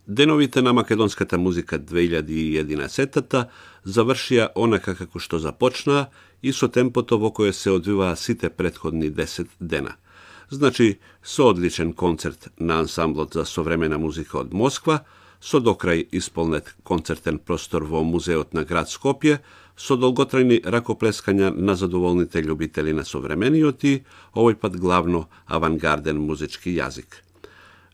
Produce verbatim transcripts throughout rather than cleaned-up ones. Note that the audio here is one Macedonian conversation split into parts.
Деновите на македонската музика две илјади и единаесетта завршија онака како што започнаа и со темпото во кое се одвиваа сите претходни десет дена. Значи, со одличен концерт на ансамблот за современа музика од Москва, со докрај исполнет концертен простор во музеот на град Скопје, со долготрајни ракоплескања на задоволните љубители на современиот и, овој пат главно, авангарден музички јазик.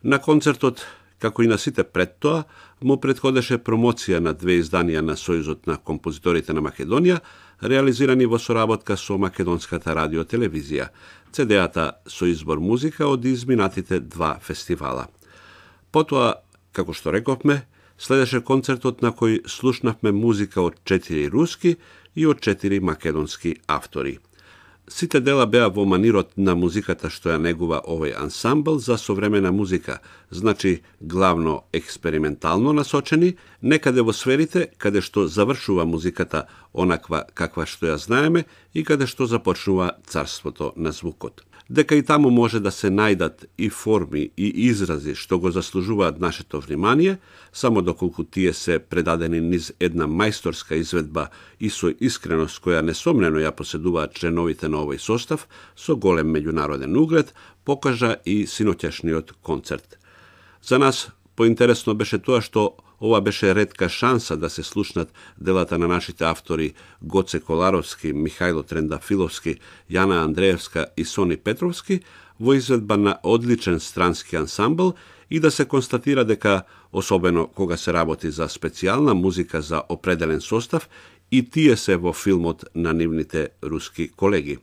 На концертот, како и на сите пред тоа, му претходеше промоција на две изданија на Сојузот на композиторите на Македонија, реализирани во соработка со Македонската радиотелевизија, Це Де А-та со избор музика од изминатите два фестивала. Потоа, како што рековме, следеше концертот на кој слушнавме музика од четири руски и од четири македонски автори. Сите дела беа во манирот на музиката што ја негува овој ансамбл за современа музика, значи главно експериментално насочени, некаде во сферите каде што завршува музиката онаква каква што ја знаеме и каде што започнува царството на звукот. Дека и таму може да се најдат и форми и изрази што го заслужуваат нашето внимание, само доколку тие се предадени низ една мајсторска изведба и со искреност која несомнено ја поседуваат членовите на овој состав, со голем меѓународен углед, покажа и синоќашниот концерт. За нас поинтересно беше тоа што ова беше ретка шанса да се слушнат делата на нашите автори Гоце Коларовски, Михајло Трендафиловски, Јана Андреевска и Сони Петровски во изведба на одличен странски ансамбл и да се констатира дека, особено кога се работи за специјална музика за определен состав, и тие се во филмот на нивните руски колеги.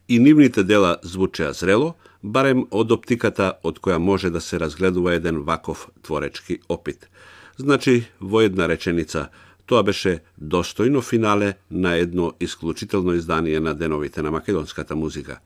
И нивните дела звучеа зрело, барем од оптиката од која може да се разгледува еден ваков творечки опит. Значи, во една реченица, тоа беше достојно финале на едно исклучително издание на деновите на македонската музика.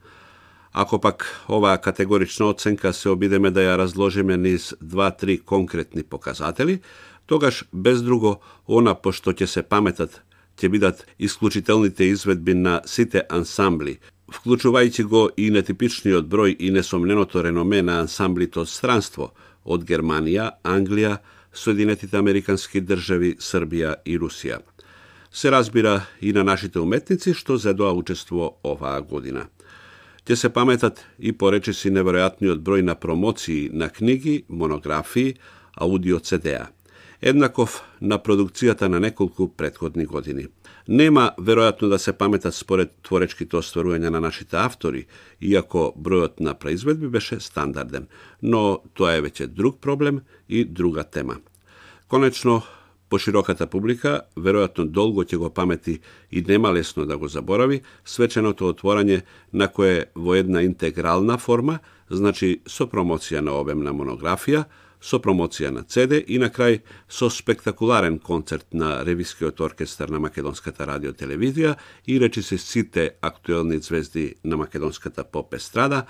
Ако пак оваа категорична оценка се обидеме да ја разложиме низ два-три конкретни показатели, тогаш без друго, она по што ќе се паметат, ќе бидат исклучителните изведби на сите ансамбли, вклучувајќи го и нетипичниот број и несомненото реноме на ансамблите од странство, од Германија, Англија, Соединетите Американски држави, Србија и Русија. Се разбира и на нашите уметници што зедоа учество оваа година. Ќе се паметат и поречиси неверојатниот број на промоции на книги, монографии, аудио Це Де А. Еднаков на продукцијата на неколку претходни години. Нема веројатно да се паметат според творечките остварувања на нашите автори, иако бројот на произведби беше стандарден, но тоа е веќе друг проблем и друга тема. Конечно, пошироката публика веројатно долго ќе го памети и нема лесно да го заборави свеченото отворање на кое во една интегрална форма, значи со промоција на обемна монографија, со промоција на Це Де и на крај со спектакуларен концерт на Ревискиот оркестар на Македонската радиотелевизија и речиси сите актуелни звезди на македонската поп естрада,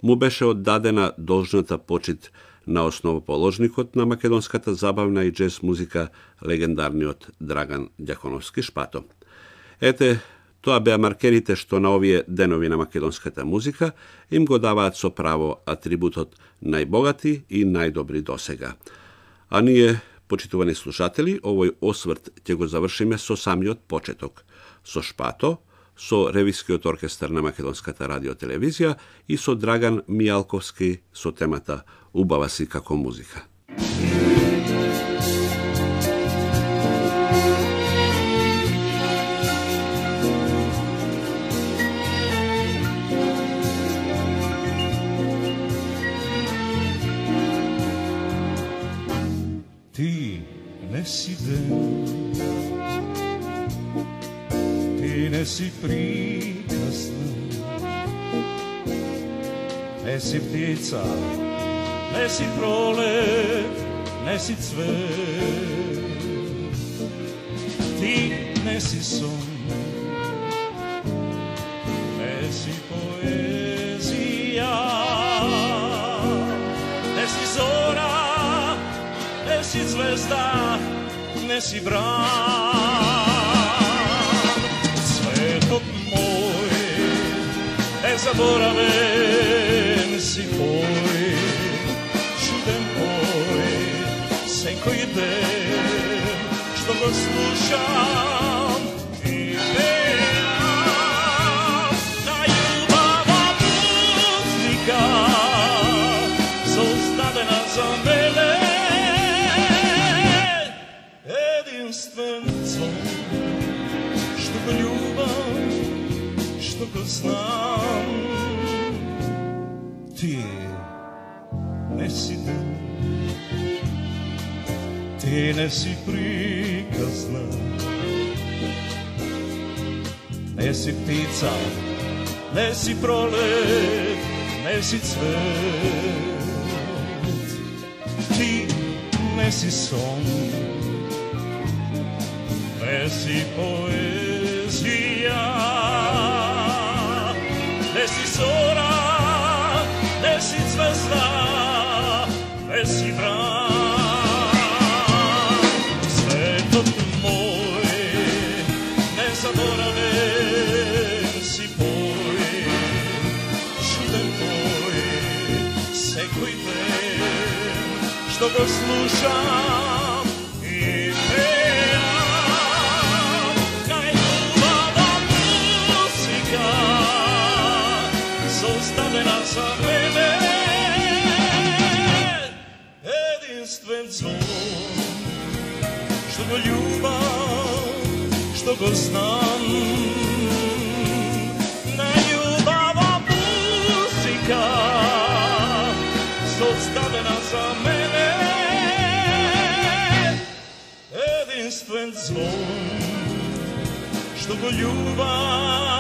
му беше оддадена должната почит на основоположникот на македонската забавна и џез музика, легендарниот Драган Ѓаконовски Шпато. Ете, тоа беа маркерите што на овие денови на македонската музика им го даваат со право атрибутот најбогати и најдобри досега. А ние, почитувани слушатели, овој осврт ќе го завршиме со самиот почеток, со Шпато, со Ревискиот оркестар на Македонската радиотелевизија и со Драган Мијалковски со темата Убава си како музика. Ти не си ден, ти не си приказна, не си птица, не си пролет, не си цвет. Ти не си сон, не си поезија, не си зора, не си звезда, не си бран. Светот мој е заборавен, си пој, чуден пој, секој ден, што го слушам и пеам, најубава музика, создадена за мене, единствен сон, што го љубам, што го знам. Ти не си ден, ти не си приказна, не си птица, не си пролет, не си цвет. Ти не си сон, не си поезија, не си зора, не си звезда, не си бран. Светот мој, незаборавен си пој, чуден тој, секој ден, што го слушам и пеам, најубава музика, создадена за мене, единствен сон, што го љубам, што го знам. Најубава музика, создадена за мене, единствен сон, што го љубам.